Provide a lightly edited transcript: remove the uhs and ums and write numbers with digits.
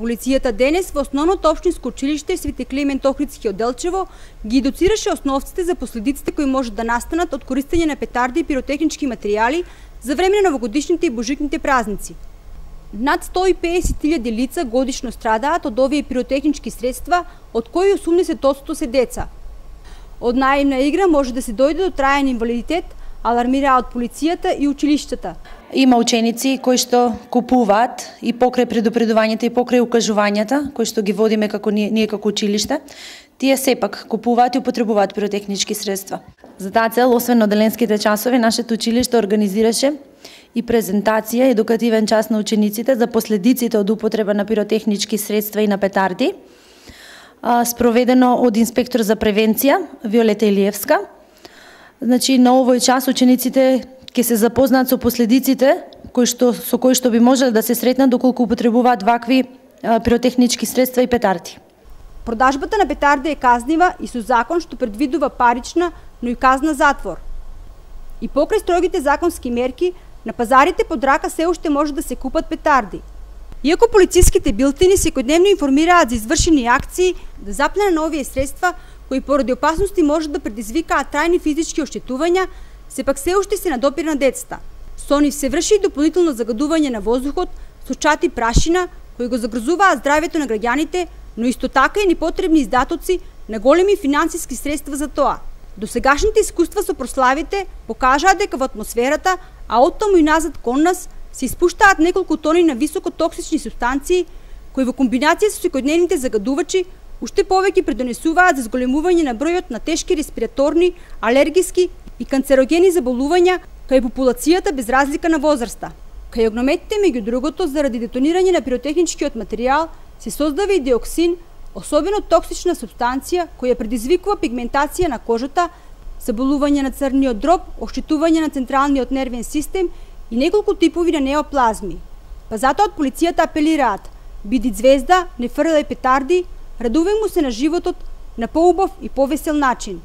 Полицијата денес во Основното општинско училиште Свети Климент Охридски од Делчево ги едуцираше основците за последиците кои можат да настанат од користење на петарди и пиротехнички материјали за време на новогодишните и божичните празници. Над 150.000 лица годишно страдаат од овие пиротехнички средства, од кои 80% се деца. Од наивна игра може да се дојде до траен инвалидитет, алармираат полицијата и училиштата. Има ученици кои што купуваат и покрај предупредувањата и покрај укажувањата, кои што ги водиме како ние како училиште, тие сепак купуваат и употребуваат пиротехнички средства. За таа цел, освен оделенските часови, нашето училиште организираше и презентација, едукативен час на учениците за последиците од употреба на пиротехнички средства и на петарди, спроведено од инспектор за превенција Виолета Илиевска. Значи, на овој час учениците ќе се запознаат со последиците со кои што би можеле да се сретнат доколку употребуваат вакви пиротехнички средства и петарди. Продажбата на петарди е казнива и со закон што предвидува парична, но и казна затвор. И покрај строгите законски мерки, на пазарите под рака се уште може да се купат петарди. Иако полициските билтини секојдневно информираат за извршени акции да заплена на овие средства, кои поради опасности можат да предизвикаат трајни физички оштетувања, сепак се уште се надопира на децата. Со нив се врши и дополнително загадување на воздухот со чати прашина, кои го загрозуваат здравјето на граѓаните, но исто така и непотребни издатоци на големи финансиски средства за тоа. Досегашните искуства со прославите покажаат дека во атмосферата, а оттаму и назад кон нас, се испуштаат неколку тони на високотоксични субстанции, кои во комбинација со секојдневните загадувачи уште повеќе придонесуваат за зголемување на бројот на тешки респираторни, алергиски и канцерогени заболувања кај популацијата без разлика на возраста. Кај огнометите, меѓу другото, заради детонирање на пиротехничкиот материјал, се создава и диоксин, особено токсична субстанција која предизвикува пигментација на кожата, заболување на црниот дроб, оштетување на централниот нервен систем и неколку типови на неоплазми. Па затоа од полицијата апелираат: биди звезда, не фрлај петарди, радувај му се на животот на поубав и повесел начин.